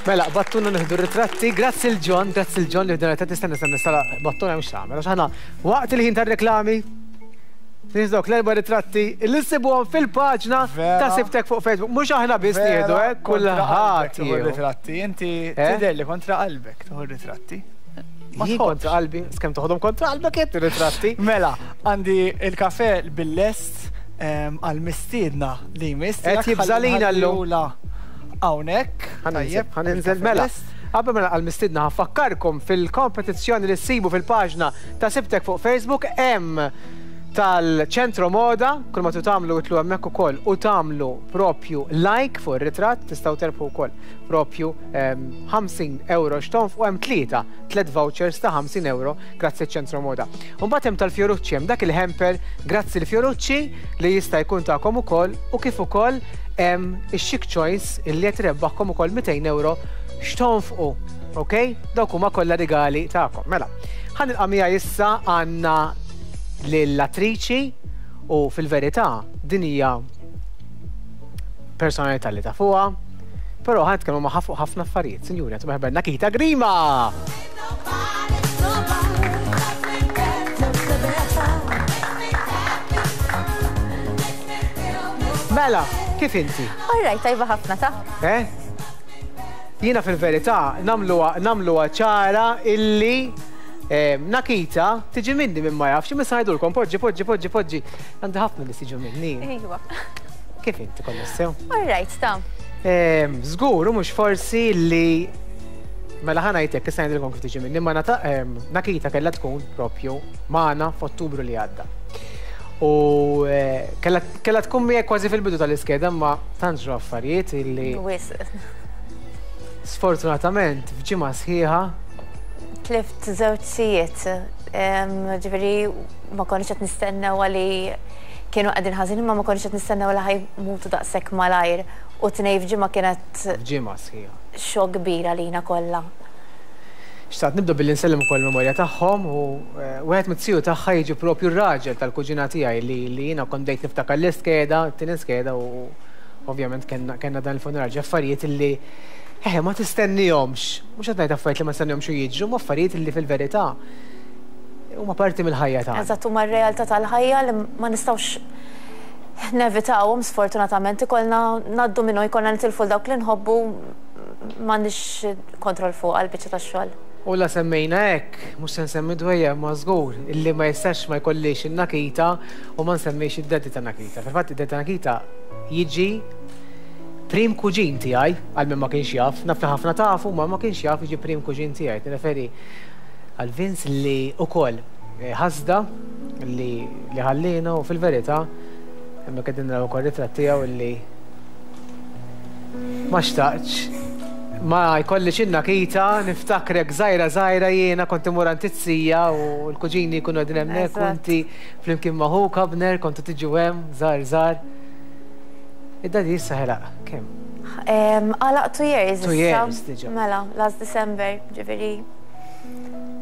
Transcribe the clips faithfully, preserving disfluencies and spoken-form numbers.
Mela, battuna nieħdu ritratti, grazzi lil John, grazzi lil John li ħduna ritratti, stenna stenna sala battuna mhux tagħmel, għax aħna waqt il-ħin tar-reklami nieħdu l-erba' ritratti li ssibuhom fil-paġna ta' Sibtek fuq Facebook. Mhux aħna biss nieħdu, eh, kulħadd jieħu ritratti, inti Eh? tidher li kontra qalbek tieħu ritratti. Ma Jien tħobbx. kontra qalbi, skemm toħodhom kontra qalbek qed ritratti. Mela, għandi il-kafe bil-lest għal-mistiedna li jmiss. Qed jibżalina llum. Hawnhekk. Ħa ninżel, ħa ninżel mela. Qabel mela għal-mistiedna ħa nfakkarkom fil-kompetizzjoni li ssibu fil-paġna ta' Sibtek fuq Facebook hemm tal-ċentro moda, kull ma tu tagħmlu itlu hemmhekk ukoll u tagħmlu propju like fuq ir-ritratt tistgħu terbħu wkoll propju ehm, ħamsin euro x'tonfqu, hemm tlieta, tliet vouchers ta' ħamsin euro grazzi ċentro moda. Mbagħad hemm tal-Fiorucci, hemm dak il-hamper grazzi l-Fiorucci li jista' jkun tagħkom ukoll u kif ukoll hemm ix-Chic Choice illi qed irebbaħkom ukoll mitejn euro x'tonfqu. Ok? Dawk huma kollha rigali tagħkom. Mela, ħa nilqa' miegħi issa għandna lill-attriċi u fil-verità din hija personalità li tafuha, però ħa nitkellmu magħha fuq ħafna affarijiet. Sinjuri, għatu merħba Nakita Grima! Nobody, nobody. Mela, kif inti? All right, tajba ħafna ta' Eh? Jiena fil-verità nagħmluha nagħmluha ċara illi eh, Nakita tiġi minni minn ma jafx, imma ngħidulkom poġġi, poġġi, poġġi, poġġi. Għandi ħafna li tiġu minni. Iva. Kif inti kollox sew? All right, ta' Żgur, u mhux forsi li mela ħa ngħidlek, issa ngħidilkom kif tiġi minni, ma nata- em, Nakita kellha tkun propju magħna f'Ottubru li għadda. U eh, kellha kellha tkun miegħek kważi fil-bidu tal-iskeda, ma tant ġraw affarijiet illi Wisq. sfortunatament f'ġimgħa sħiħa Tlift żewġ zijiet. Ġifieri ma konniex qed nistennew li kienu qegħdin ħażin, imma ma konniex qed nistennew li ħa jmutu daqshekk malajr. U tnejn f'ġimgħa kienet f'ġimgħa sħiħa. Xokk kbir għalina kollha. Xtaqt nibda billi nsellem ukoll memorja tagħhom u eh, wieħed mit-tiju tagħha jiġi propju r-raġel tal-kuġina tiegħi li li jiena kont bdejt niftakar l-iskeda, t-tieni skeda, u ovvjament kellna kellna dan il-funeral ġi affarijiet illi eh ma tistennihomx. Mhux qed ngħid affarijiet li ma tistennihomx u jiġru, ma affarijiet illi fil-verità huma parti mill-ħajja tagħna. Eżatt, huma r-realtà tal-ħajja li ma nistgħux nevitawhom, sfortunatament ikollna ngħaddu minnu, jkollna nitilfu dawk li nħobbu, m'għandix kontroll fuq għal-biċċa tax-xogħol. U la semmejna hekk, mhux se nsemmi dwejja ma żgur illi ma jistax ma jkollix in-Nakita u ma nsemmix id-daddy ta' Nakita. Fil-fatt id-daddy ta' Nakita jiġi prim kuġin tiegħi, għal min ma kienx jaf, naf li ħafna tafu, ma ma kienx jaf, jiġi prim kuġin tiegħi. Nirreferi għal Vince li ukoll eh, ħasda li li ħallina u fil-verità hemmhekk qegħdin naraw ukoll ritratt tiegħu illi ma xtaqx ma jkollix in-Nakita. Niftakrek żgħira żgħira, jiena kont imur għand iz-zija u l-kuġini jkunu qegħdin hemmhekk u Eżatt. inti flimkien ma' ħuk Abner kontu tiġu hemm żgħar żgħar. Id-daddy issa ħelaq kemm? Għalaq two years Two issa. years diġà. Mela, last December, ġifieri.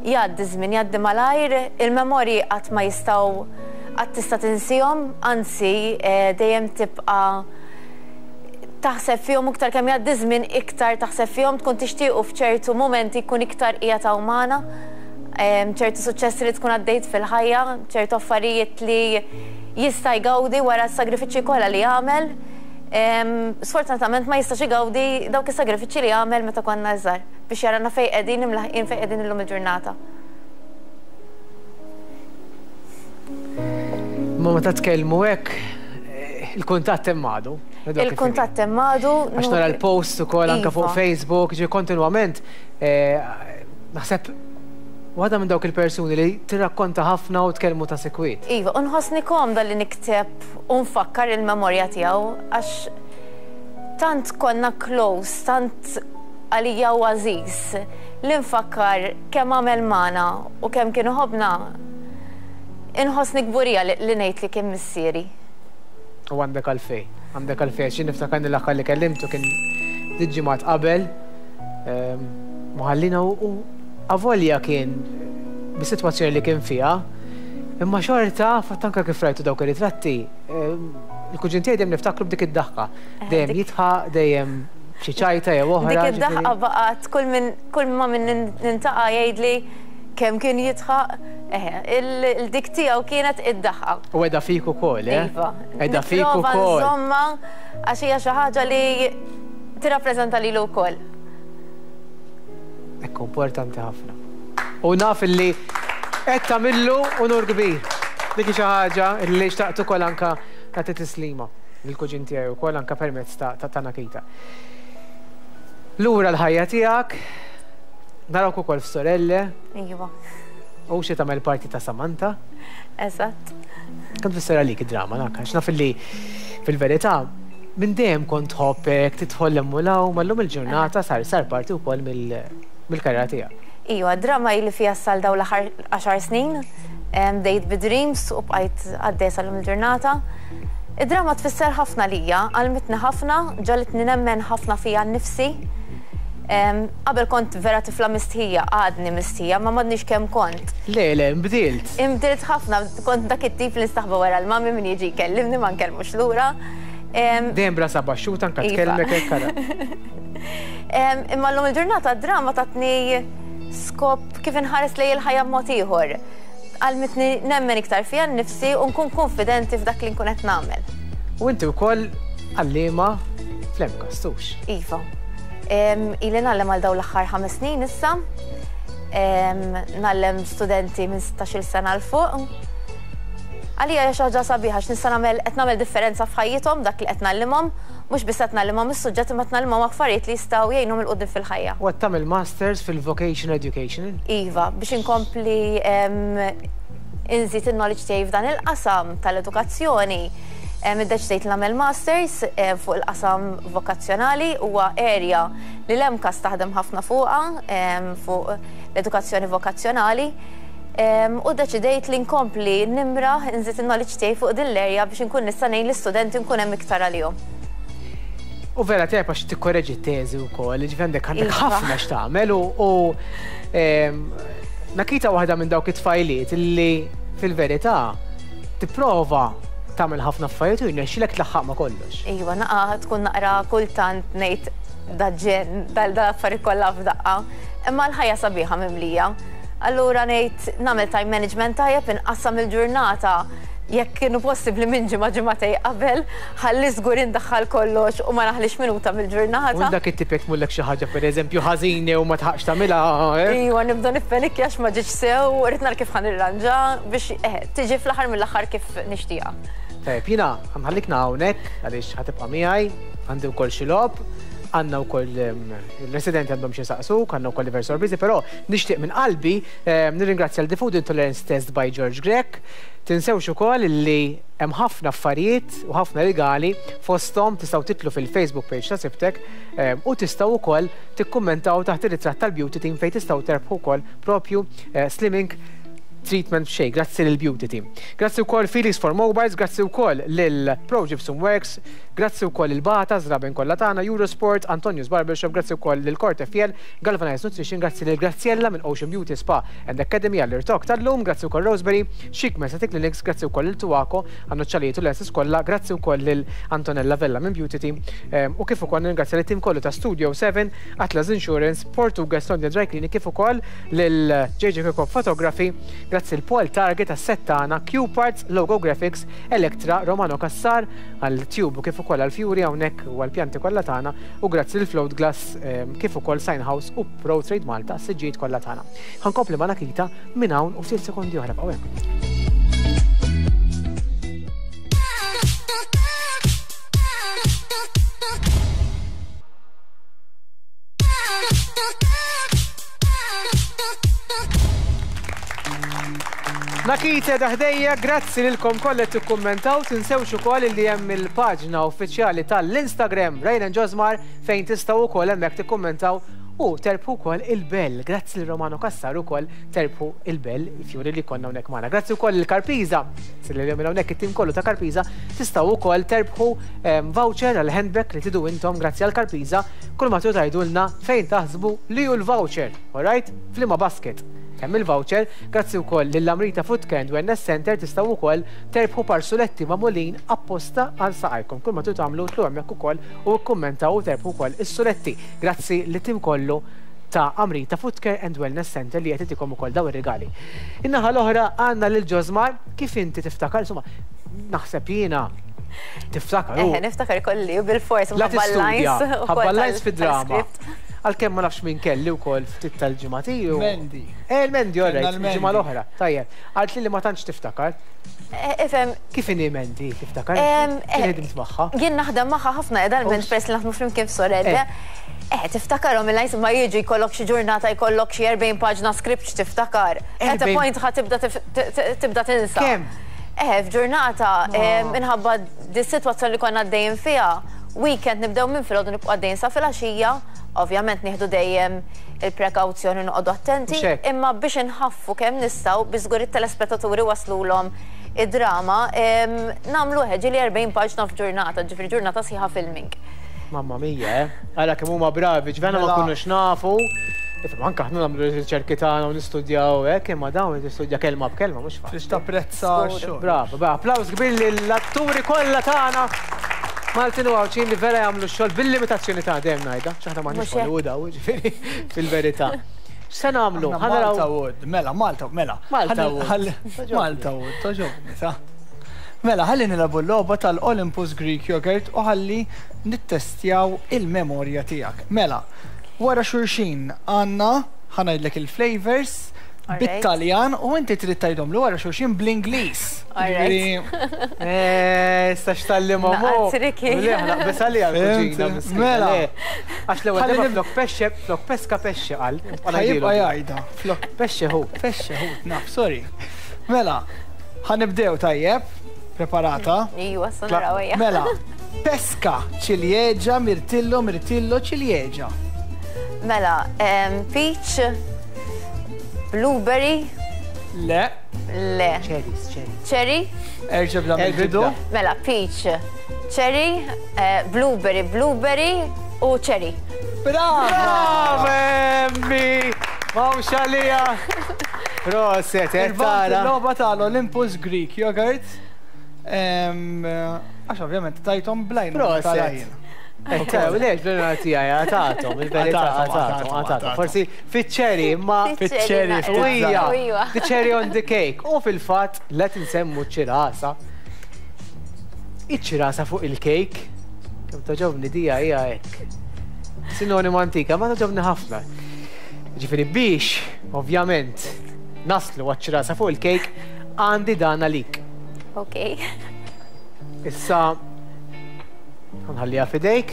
Jgħaddi żmien, jgħaddi malajr, il-memorji qatt ma jistgħu qatt tista' tinsihom, anzi eh, dejjem tibqa' taħseb fihom, iktar kemm jgħaddi żmien iktar taħseb fihom, tkun tixtiequ f'ċertu momenti jkun iktar qiegħed hawn magħna. Em, ċertu suċċessi li tkun għaddejt fil-ħajja, ċertu affarijiet li jista' jgawdi wara s-sagrifiċċji kollha li jagħmel. Em, Sfortunatament ma jistax igawdi dawk is-sagrifiċċji li għamel meta konna żgħar biex jarana fejn qegħdin imlaħqin fejn qegħdin illum il-ġurnata. Ma meta tkellmu hekk, eh, il-kuntatt hemm għadu. Ngħidu kif inhi. Il-kuntatt hemm għadu. Għax nara l-post ukoll anke fuq Iva. Facebook, ġi kontinwament, eh, naħseb waħda minn dawk il-persuni li tirrakkonta ħafna u tkellmu ta' sekwit. Iva, u nħossni komda li nikteb u nfakkar il-memorja tiegħu għax tant konna close, tant għalija u għażiż li nfakkar kemm għamel magħna u kemm kienu ħobna. Inħossni kburija li li ngħid li kien missieri. U għandek għalfej, għandek għalfej, xi niftakar l-aħħar li kellimtu kien ġimgħat qabel, ehm, muħallina u u avolja kien bis-sitwazzjoni li kien fiha, imma xorta, fatt anka kif rajtu dawk ir-ritratti, ehm, il-kuġin tiegħi dejjem niftakru b'dik id-daħka, dejjem dik- jidħaq, dejjem Xi ċajta jew oħra. Dik id-daħqa baqgħet kull min kull ma min niltaqa' jgħidli kemm kien jidħaq. Eħe, il-dik tiegħu kienet id-daħqa. U qiegħda fik ukoll, eh? Iva. Qiegħda fik ukoll. Insomma, għax hija xi ħaġa li tirrappreżenta lilu wkoll. Ekku, importanti ħafna. U naf illi qed tagħmillu unur kbir. Dik xi ħaġa li xtaqt ukoll anka nagħti tislima lill-kuġin tiegħi wkoll anka permezz ta' Nakita. Lura l-ħajja tiegħek, narawk ukoll f'Sorelle. Iva. U xi tagħmel parti ta' Samantha. Eżatt. Kemm tfisser għalik id-drama nak, għax naf illi fil-verità minn dejjem kont tħobbek, tidħol hemm u law, ma llum il-ġurnata sar sar parti wkoll mill-karriera tiegħek. Iva, drama ili fiha sal dawn l-aħħar għaxar snin, bdejt bi Dreams u bqajt għaddej sal-lum il-ġurnata. Id-drama tfisser ħafna lija, għallmitni ħafna, ġagħlitni nemmen ħafna fija nnifsi. Qabel kont vera tifla mistħija, għadni mistħija, ma m'għadniex kemm kont. Le, le, imbdilt. Imbdilt ħafna, kont dak it-tip li nistaħba wara l-mami min jiġi jkellimni ma nkellmux lura. Dejjem b'rasha baxxuta anke tkellmek hekk ara. Imma llum il-ġurnata d-drama tatni skop kif inħares lejn il-ħajja b'mod ieħor. Għallmitni nemmen iktar fija nnifsi u nkun konfidenti f'dak li nkun qed nagħmel. U inti wkoll għalliema fl-MCAST, hux? Iva. Ili ngħallem għal dawn l-aħħar ħames snin issa. Ngħallem studenti minn sittax-il sena 'l fuq. Għalija hija xi ħaġa sabiħa għax nista' nagħmel qed nagħmel differenza f'ħajjithom dak li qed ngħallimhom, mhux biss qed ngħallimhom is-suġġett imma qed ngħallimhom affarijiet li jistgħu jgħinhom 'il quddiem fil-ħajja. U qed tagħmel masters fil-vocational education? Iva, biex inkompli inżid il-knowledge tiegħi f'dan il-qasam tal-edukazzjoni. Iddeċidejt li nagħmel masters fuq il-qasam vokazzjonali, huwa area li l-MCAST taħdem ħafna fuqha, fuq l-edukazzjoni vokazzjonali. U deċidejt li nkompli nimraħ nżid il-knowledge tiegħi fuq din l-area biex inkun nista' ngħin l-istudenti nkun hemm iktar għalihom. U vera tajjeb għax tikkoreġi t-teżi wkoll, ġifieri għandek għandek Iva. ħafna x'tagħmel u Nakita waħda minn dawk it-tfajliet li fil-verità tipprova tagħmel ħafna affarijiet u jirnexxilek tlaħħaq ma' kollox. Iva, naqa tkun naqra kultant ngħid daġġen dal-affarijiet kollha f'daqqa, imma l-ħajja sabiħa mimlija. Allura ngħid nagħmel time management tajjeb, inqassam il-ġurnata jekk kienu possibbli minn ġimgħa ġimgħatej qabel, ħalli żgur indaħħal kollox u ma naħlix minuta mill-ġurnata. U dak it-tip jekk tmullek xi ħaġa pereżempju ħażini u ma tħaqx tagħmilha, eh? Iva, nibda nippenikja għax ma ġietx sew, u rrid nara kif ħa nirranġa biex eh, tiġi fl-aħħar mill-aħħar kif nixtieqha. Tajjeb, jiena ħanħallikna hawnhekk għaliex ħatibqa' miegħi, għandi wkoll xi logħob, għandna wkoll il-residenti għandhom xi saqsuk, għandna wkoll diversi sorpriżi, però nixtieq minn qalbi nirringrazzja l The Food Intolerance Test by George Grech. Tinsewx ukoll li hemm ħafna affarijiet u ħafna rigali fosthom tistgħu titlu fil-Facebook page ta' Sibtek u tistgħu wkoll tikkummentaw taħt ir-ritratt tal-Beauty Team fejn tistgħu terbħu wkoll propju slimming treatment b'xejn, grazzi lil Beauty Team. Grazzi wkoll Felix for Mobiles, grazzi wkoll lil Pro Gypsum Works, grazzi wkoll lil Bata, Zraben kollha tagħna, Eurosport, Antonius Barbershop, grazzi wkoll lil Corte Fiel, Galvanized Nutrition, grazzi lil Graziella minn Ocean Beauty Spa and Academy għall-irtok tal-lum, grazzi wkoll Roseberry, Chic Aesthetic Clinics, grazzi wkoll lil Tuaco, għan-noċċalijiet u l-lenses kollha, grazzi wkoll lil Antonella Vella minn Beauty Team, u kif ukoll ningrazzja lit-tim kollu ta' Studio seven, Atlas Insurance, Portuguese London Dry Clinic, kif ukoll lil J J Kirkhope Photography, grazzi l-Paul Target għas-settana, Q Parts, Logo Graphics, Electra, Romano Cassar għal Tube u kif ukoll għal Fury hawnhekk u għall-pjanti kollha tagħna, u grazzi l-Float Glass kif ukoll Sign House u Pro Trade Malta s-siġġijiet kollha tagħna. Ħankompli ma' Nakita minn hawn u ftit sekondi oħra bqgħu hemm. Nakita daħdejja, grazzi lilkom kollha qed tikkummentaw, tinsewx ukoll li hemm il-paġna uffiċjali tal-Instagram Ryan Josmar fejn tistgħu wkoll hemmhekk tikkummentaw u terbħu wkoll il-bell. Grazzi lil Romano Cassar ukoll terbħu il-bell, il-fjuri li konna hawnhekk magħna. Grazzi wkoll lil Karpiza, li minn hawnhekk it-tim kollu ta' Karpiza, tistgħu wkoll terbħu voucher għal handbag li tidu intom grazzi għal Karpiza, kull ma tgħidulna fejn taħsbu li hu l-voucher, all right? F'liema basket. Hemm il-voucher, grazzi wkoll lill-Amrita Foot Care and Wellness Center tistgħu wkoll terbħu par suletti magħmulin apposta għal saqajkom. Kull ma tridu tagħmlu tlu hemmhekk ukoll u kkummentaw u terbħu wkoll is-suletti. Grazzi lit-tim kollu ta' Amrita Foot Care and Wellness Center li qed itikom ukoll daw ir-rigali. In-naħa l-oħra għandna lil Ġosmar, kif inti tiftakar, insomma, naħseb jiena tiftakar. Eħe, niftakar kolli u bil-fors La mħabba tistudja, l-lines. u ħabba kol lines tal- fid-drama. tal-script. Għalkemm ma nafx minn kelli wkoll ftit tal-ġimgħat ilu. Mendi. Eh, il-Mendi, all Kellna right, l-Mendi. il-ġimgħa l-oħra. Tajjeb, għalt li li ma tantx tiftakar. Eh, Ifhem, Kif inhi Mendi, tiftakar? Em, Kien eh, ħedimt magħha? Jien naħdem magħha ħafna edalment Ux. peress li naħdmu flimkien f'Sorelle. Eh. Eh, tiftakarhom il-lines ma jiġu jkollok xi ġurnata jkollok xi erbgħin paġna script x'tiftakar. At a Erbgħin- point ħa tibda tif- t- t- tibda tinsa. Kemm? Eh, f'ġurnata eh, minħabba dis-sitwazzjoni li konna għaddejjin fiha, weekend nibdew minn filgħodu nibqgħu għaddejjin sa filgħaxija, ovvjament nieħdu dejjem il-prekawzjoni noqogħdu attenti, Mhux hekk. imma biex inħaffu kemm nistgħu biex żgur it-telespettaturi waslulhom id-drama, em, nagħmlu ġieli erbgħin paġna f'ġurnata, ġifieri ġurnata sħiħa filming. Mamma mia, eh? Għala kemm huma bravi, ġvena ma Mela. kunux nafu. Ifhem, anke aħna nagħmlu riċerki tagħna u nistudjaw hekk, imma dawn nistudja kelma b'kelma mhux faċli. Trid tapprezza Żgur. x-xogħol. Bravo, bra, applaus kbir lill-atturi kollha tagħna. Maltin u Għawdxin li vera jagħmlu x-xogħol bil-limitazzjoni ta' dejjem ngħidha, x'aħna m'aħniex Mhux hekk. Hollywood hawn, ġifieri fil-verità. X'se nagħmlu? Aħna Ħa naraw- Malta Wood, mela, Malta, mela. Malta Ħalli- Wood. ħalli- Toġobni. Malta Wood, toġobni, sa. Mela, ħalli nilagħbu l-logħba tal-Olympus Greek Yogurt u ħalli nittestjaw il-memorja tiegħek. Mela, wara xulxin għandna ħa ngħidlek il-flavors Alright. bit-Taljan u inti trid tgħidhom li wara xulxin bl-Ingliż. Alright. Ġifieri, Eh, issa x'tallimhom hu. Naqra tricky. Le, naqbes għalija l-kuġina. Fhimt? miskina, Mela. le. Għax l-ewwel Ħalli darba nib- flok pesce, flok pesca pesce qal. Ħa jibqa' jgħidha. Flok Pesce hu. pesce hu, naf, sorry. Mela, ħa nibdew tajjeb, preparata. Iwa, sa naraw ejja. Mela, pesca, ciliegia, mirtillo, mirtillo, ciliegia. Mela, em, peach, blueberry, Le, le, Cherries, cherries. cherry, erġa' bla Erġa' mill-bidu. bla. mela peach, cherry, eh, blueberry, blueberry u cherry. Brava! Brava, Emmi! Mawx għalija! Proset, eh, Irbaħt tara. il-logħba tal-Olympus Greek Yogurt. Em, Għax ovvjament tajthom blajn. Proset. Eh, u lex, l-għana tijaj, għatatom, il-verità, Għatatom, għatatom, għatatom, għatatom. għatatom. Forsi fit-cherry, imma Fit-cherry, naqra. ftit Ija, Ija. the cherry on the cake. U fil-fat, let nsemmu ċirasa. Iċ-ċirasa fuq il-cake. Kemm toġobni dija hija hekk. Sinonimo antika, ma toġobni ħafna. Ġifieri biex, ovvjament, naslu għaċ-ċirasa fuq il-cake, għandi dan għalik. Ok. Issa, nħallija fidejk.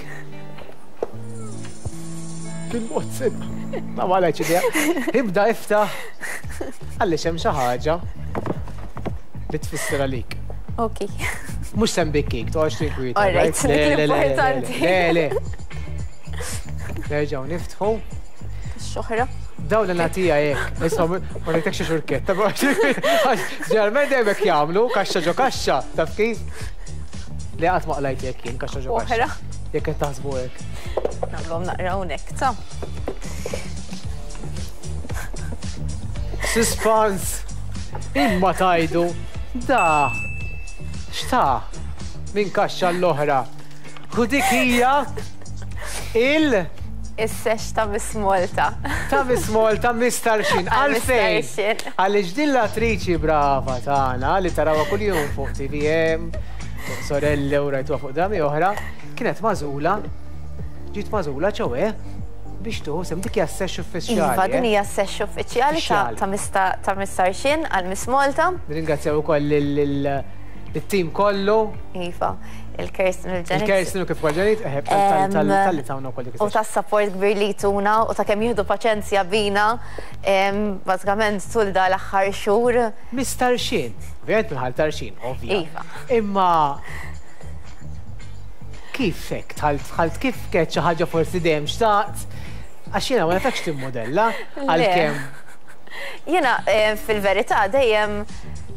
Bil-mod sibba. Ma wala ċidja. Ibda iftaħ. Għalli xem xi ħaġa li tfisser għalik. Ok. Mhux sem bikkik, toqgħodx tinkwieta. All right, right? Le, le, le, le, l-importanti. Le, le. Nerġgħu niftħu. Xoħra. Dawn l-natija jek, issa ma rajtekx xi xurketta, ġeneralment dejjem hekk jagħmlu, kaxxa ġo kaxxa, taf kif? Li qatt ma qlajt jekk jien kaxxa ġo kaxxa. Oħra. Jekk qed taħsbu hekk. Nagħmluhom naqra hawnhekk, ta' Suspense! Imma tajdu, da, xta, minn kaxxa l-oħra. U dik hija il- Is-sex ta' Miss Malta. ta' Miss Malta, Miss Tarxien. Għal Miss Għalfejn? Tarxien. Għaliex din l-attriċi brava tagħna li tarawha kuljum fuq T V M, fuq Sorelle u rajtuha fuq drami oħra, kienet magħżula, ġiet magħżula ċowe biex tuħu sem dik hija s-sex uffiċjali. Iva, din eh? hija s-sex uffiċjali ta' Uffiċjali. ta' Miss Ta- ta' Miss Tarxien għal Miss Malta. Nirringrazzjaw ukoll lil-tim kollu. Iva, il-Kirsten u l-Janet. Il-Kirsten u kif ukoll Janet, eh, Em, tal-li tawna wkoll dik U is-sex. ta' support kbir li tuna u ta' kemm jieħdu paċenzja bina, em, bażikament tul da l-aħħar xhur. Miss Tarxien, ovvjament minħal Tarxien, ovvja. Iva. Imma kif hekk tħalt tħalt kif kienet xi ħaġa forsi dejjem xtaqt? Għax jiena ma nafekx timmodella Le. għalkemm Jiena, eh, fil-verità dejjem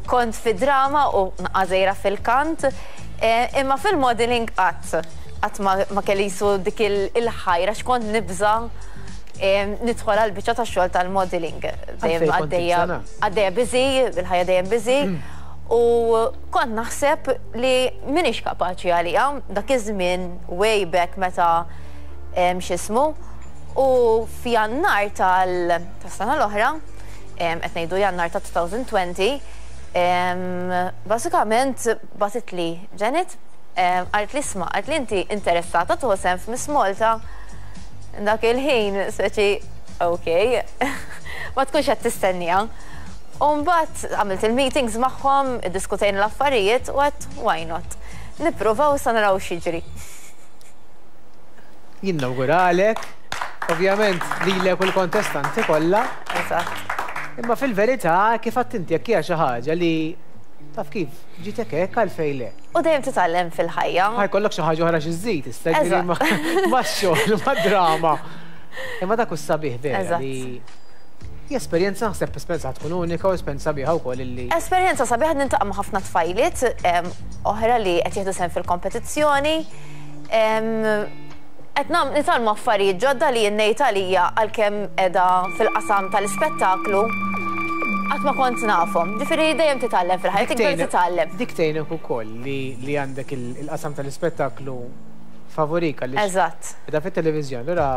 kont fi drama u naqażejra fil-kant, eh, imma fil-modeling qatt qatt ma, ma kelli jisu dik il-ħajra x'kont nibża nidħol għal biċċa ta' xogħol tal-modeling. Dejjem għaddejja għaddejja busy, il-ħajja dejjem busy. U kont naħseb li m'iniex kapaċi għalija dak iż-żmien way back meta x'ismu. U f'Jannar tal-sena l-oħra, qed ngħidu Jannar ta' elfejn u għoxrin, basikament bagħtitli Janet, qaltli, "Isma'," qaltli, "inti interessata tieħu sehem f'Miss Malta?" Dak il-ħin, speċi, ok, ma tkunx qed tistennija. U mbagħad għamilt il-meetings magħhom, iddiskutejna l-affarijiet u għedt, "Why not? Nippruvaw sa naraw x'jiġri." Jien nawguralek, ovvjament lilek u l-kontestanti kollha. Eżatt. Imma fil-verità, kif għedt inti, jekk hija xi ħaġa li taf kif ġitek hekk, għalfejn le? U dejjem titgħallem fil-ħajja. Ħa jkollok xi ħaġa oħra xi żżid, issa ma' xogħol, ma' drama. Imma dak hu sabiħ vera li esperjenza, naħseb esperjenza tkun unika u esperjenza sabiħa wkoll illi. Esperjenza sabiħa, niltaqa' ma' ħafna tfajliet oħra li qed jieħdu sehem fil-kompetizzjoni. Qed nitgħallmu affarijiet ġodda li ngħid għalija, għalkemm qiegħda fil-qasam tal-ispettaklu, qatt ma kont nafhom. Ġifieri dejjem titgħallem fil-ħajja, tikber titgħallem. Dik tgħinek ukoll li għandek il-qasam tal-ispettaklu favorik għaliex. Eżatt. Qiegħda fit-televiżjoni, allura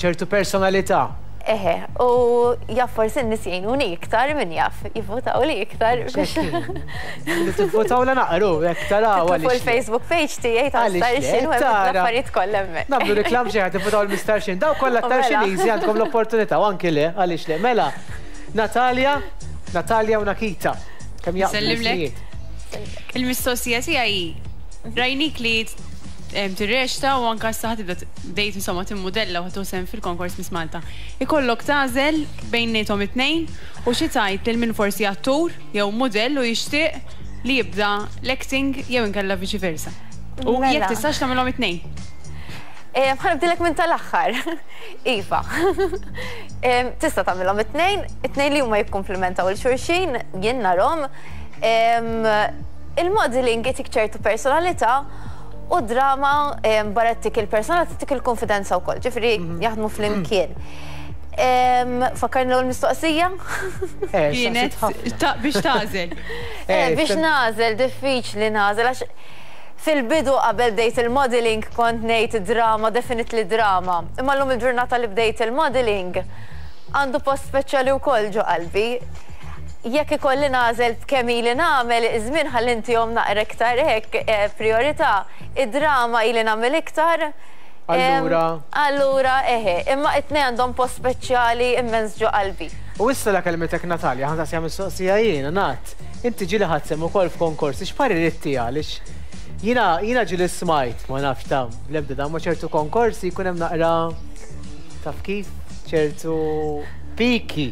ċertu personalità. Eħe, u jaf forsi n-nies jgħinuni iktar, min jaf, jivvotaw li iktar. Li tivvotaw la naqru, jekk taraw. Fuq il-Facebook page tiegħi ta' Tarxien u l-affarijiet kollha hemmhekk. Nagħmlu reklam xi ħadd, tivvotaw l-Miss Tarxien. Daw kollha Tarxiniżi, għandkom l-opportunità u anki le, għaliex le. Mela, Natalia, Natalia u Nakita. Kemm jaqblu. Il-mistoqsija tiegħi, rajnik li tirreċta u anka issa tibda bdejt insomma timmudella u sehem fil-konkors Miss Malta. Ikollok tagħżel bejniethom it-tnejn u xi tgħid lil min forsi attur jew modell u jixtieq li jibda l-acting jew inkella viċi versa? U Mela. jekk tistax tagħmelhom it-tnejn. Ħa nibdilek minn tal-aħħar. Iva. Em, Tista' tagħmilhom it-tnejn, it-tnejn li huma jikkumplementaw lil xulxin, jien narhom. Em, Il-modeling jtik ċertu personalità u drama em, barra ttik il-personalità ttik il-konfidenza wkoll, ġifieri jaħdmu flimkien. Em, Fakkarni l mistoqsija? Eh, Kienet ta- biex tagħżel. Eh, Biex nagħżel, diffiċli nagħżel, għax fil-bidu qabel bdejt il-modeling kont ngħid drama, definitely drama. Imma llum il-ġurnata li bdejt il-modeling għandu post speċjali wkoll ġo qalbi. Jekk ikolli nagħżel b'kemm ili nagħmel iż-żmien ħalli intihom naqra iktar hekk eh, priorità, id-drama ili nagħmel iktar. Em, Allura? Allura, eħe, imma it-tnejn għandhom post speċjali immens ġo qalbi. U issa la kelmitek Natalja, ħa nsaqsi mistoqsija jiena, Nat. Inti ġieli ħadt sehem ukoll f'konkorsi, x'parir ittiha? Għaliex jiena jiena ġieli smajt, ma nafx ta' bl-ebda da, ma ċertu konkorsi jkun hemm naqra, taf kif, ċertu piki.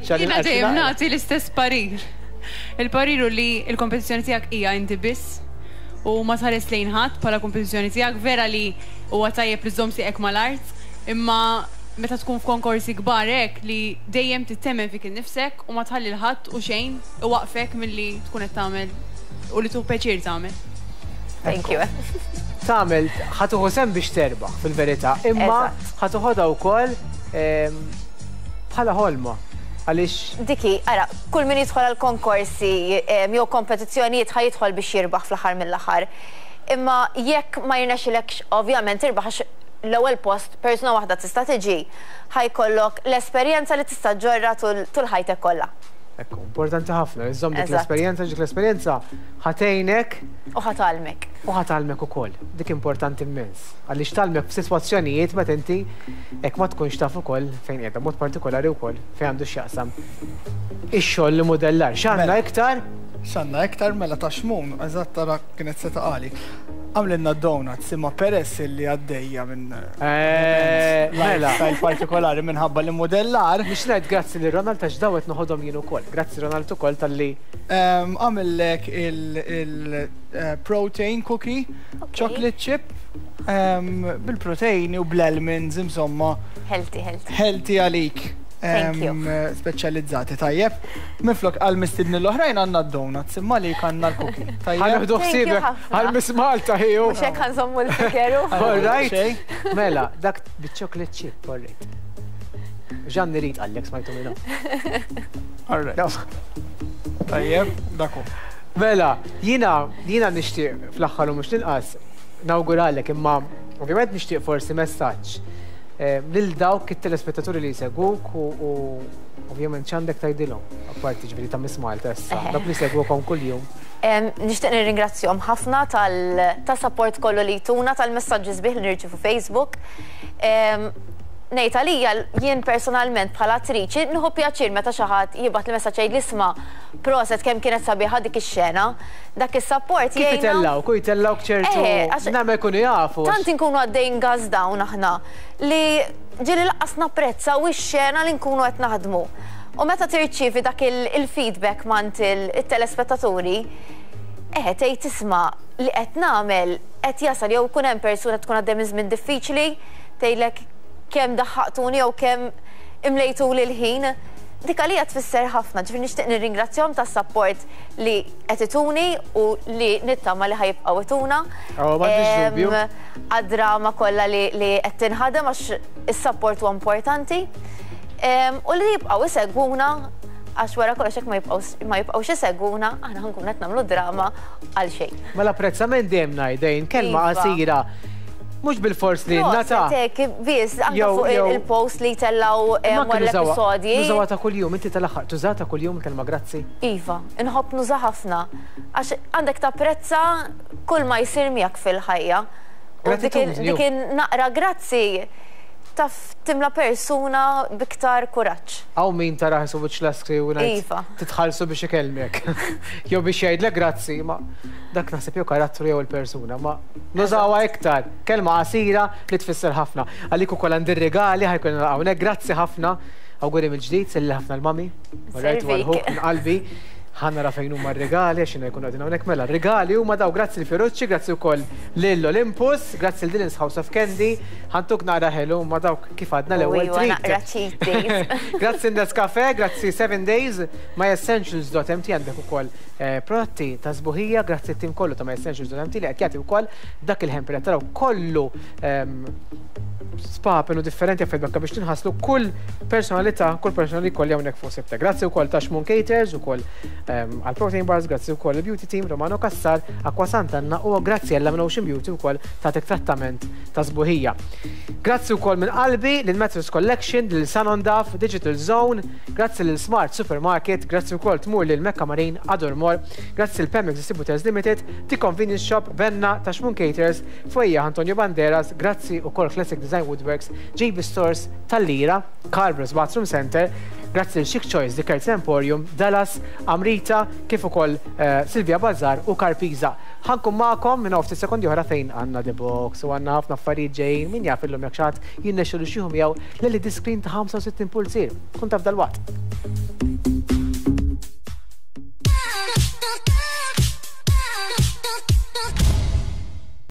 Jiena dejjem nagħti l-istess parir. Il-parir hu li il-kompetizzjoni tiegħek hija inti biss u ma tħares lejn ħadd bħala kompetizzjoni tiegħek. Vera li huwa tajjeb li żżomm sieqek mal-art, imma meta tkun f'konkorsi kbar hekk li dejjem tittemmen fik innifsek u ma tħalli 'l ħadd u xejn iwaqfek milli tkun qed tagħmel u li tieħu pjaċir tagħmel. Thank you. Tagħmel ħa tieħu sehem biex terbaħ fil-verità, imma Eżatt. ħa toħodha wkoll ehm, bħala ħolma. Għaliex Diki, ara, kull min jidħol għal konkorsi em, jew kompetizzjonijiet ħa jidħol biex jirbaħ fl-aħħar mill-aħħar. Imma jekk ma jirnexxilekx ovvjament tirbaħ, għax l-ewwel post persuna waħda tista' tiġi, ħa jkollok l-esperjenza li tista' ġġorrha tul tul ħajtek kollha. Ekku, importanti ħafna, iżżomm dik Eżatt. l-esperjenza, dik l-esperjenza ħa tgħinek U ħa tgħallmek. U ħa tgħallmek ukoll. Dik importanti immens. Għaliex tgħallmek f'sitwazzjonijiet meta inti hekk ma tkunx taf ukoll fejn qiegħda, mod partikolari wkoll fejn għandu x'jaqsam ix-xogħol li modellar. X'għandna Mela. iktar? X'għandna iktar? Mela ta' Xmun, eżatt tara kienet se taqali. Għamlilna donuts, imma peress li għaddejja minn Eh, Mela. lifestyle partikolari minħabba li modellar, Biex ngħid grazzi lil Ronald għax dawet noħodhom jien ukoll. Grazzi Ronald ukoll talli em, għamillek il-protein cookie, chocolate chip, em, bil-proteini u bl-almonds, insomma, Healthy, healthy. Healthy għalik. Thank you. Speċjalizzati, tajjeb. Minflok għal mistednin l-oħrajn għandna d-donuts, imma li għandna l-cookie. Tajjeb. Ħa nieħdu Thank you ħsiebek ħafna. għal Miss Malta ħiju. Mhux hekk ħa nżommu l-fikeru. All right. Mela, dak bit-chocolate chip, all right. Ġanni rid għallek smajtu minnu. All right. Tajjeb, daku. Mela, jina, jina nixtieq fl-aħħar u mhux l-inqas nawguralek, imma ovvjament nixtieq forsi messaġġ eh, lil dawk it-telespettaturi li jsegwuk u u ovvjament x'għandek tgħidilhom, apparti ġifieri ta' Miss Malta issa, dawk li jsegwukom kuljum. Em, Nixtieq nirringrazzjahom ħafna tal ta' support kollu li jtuna, tal-messaġġi sbieħ li nirċifu Facebook. Em, Ngħid għalija, jien personalment bħala attriċi nieħu pjaċir meta xi ħadd jibgħat li messaġġ jgħid li, "Isma', proset, kemm kienet sabiħa dik ix-xena." Dak is-support Kif jgħinna. itellawk, u jtellawk ċertu, Eh, għax- nagħmel jkunu jafu. Tant inkunu għaddejn gas down aħna li ġieli lanqas napprezza u x-xena li nkunu qed naħdmu. U meta tirċievi dak il- il-feedback mingħand il-telespettaturi, eh, tgħid, "Isma', li qed nagħmel qed jasal," jew kun hemm persuna tkun għaddej minn żmien diffiċli, tgħidlek, "Kemm daħħaqtuni," jew, "Kemm imlejtu li l-ħin." Dik għalija tfisser ħafna, ġifieri nixtieq nirringrazzjahom tas-support li qed ituni u li nittama li ħa jibqgħu ituna. Oh, m'għandix dubju. Em, għad-drama kollha li, li qed tinħadem, għax is-support huwa importanti. Em, U li jibqgħu isegwuna, għax wara kollox hekk ma jibqgħux ma jibqgħux isegwuna, aħna ħa nkunu qed nagħmlu drama għal xejn. Mela apprezzament dejjem ngħidejn, kelma Iva. qasira. Mhux bil-fors li nata. Proset, biss, anke Jew- fuq jew- il-post li tellaw em, Imma wara anke nużawha- l-episodji. Nużawha ta' kuljum, inti tal-aħħar tuża ta' kuljum kelma grazzi. Iva, inħobb nuża ħafna. Għax għandek tapprezza kull ma jsir miegħek fil-ħajja. U dik il- Gratitudni, dik il-naqra grazzi taf timla persuna biktar kuraġġ. Hawn min tara ħisu wiċċ laskri u ngħid Iva. titħallsu biex ikellmek. Jew biex jgħidlek grazzi, ma dak naħseb jew karattru jew il-persuna, ma nużawha iktar. Kelma qasira li tfisser ħafna. Għalik ukoll għandi regali ħa jkun hawnhekk, grazzi ħafna. Awguri mill-ġdid, selli ħafna l-mami. Alright, Servik. u għal-ħuk minn qalbi. Ħa nara fejn huma r-regali, għax jkunu qegħdin hawnhekk. Mela, r-regali huma daw, grazzi l-Fiorucci, grazzi wkoll lil Olympus, grazzi l Dylan's House of Candy, ħa ntuk naqra ħelu ma dawk kif għadna l-ewwel Iva, treat. naqra cheat days. Grazzi Nescafe, grazzi seven Days, myessentials dot M T għandek ukoll eh, prodotti ta' sbuħija, grazzi t-tim kollu ta' myessentials dot M T li qed jagħti wkoll dak il-hamper qed taraw kollu ehm, spapenu differenti affarijiet bakka biex tinħaslu kull personalità, kull personali kolli hawnhekk fuq Sibtek. Grazzi wkoll ta' Xmun Caters ukoll ehm, għal Protein Bars, grazzi wkoll il-Beauty Team, Romano Cassar, Aqua Sant'Anna u grazzi għalla minn Ocean Beauty wkoll tagħtek trattament ta' sbuħija. Grazzi wkoll minn qalbi lil Metros Collection, lil Sanon Daf, Digital Zone, grazzi lil Smart Supermarket, grazzi wkoll tmur lil Mecca Marine, Ador Mall, grazzi lil Pemex Distributors Limited, The Convenience Shop, Benna, ta' Xmun Caters, Fwejja Antonio Banderas, grazzi wkoll Classic Design Woodworks, J B Stores, Tal-Lira, Carbros Bathroom Center, grazzi l Chic Choice, The Curtis Emporium, Dallas, Amrita, kif ukoll eh, Silvia Bazar u Carpisa. Ħa nkun magħkom minn ftit sekondi oħra fejn għandna The Box u għandna ħafna affarijiet ġejjin, min jaf illum jekk xi ħadd jinnexxielu xieħu miegħu l-L E D screen ta' ħamsa u sittin pulzier. Kun taf dalwaqt.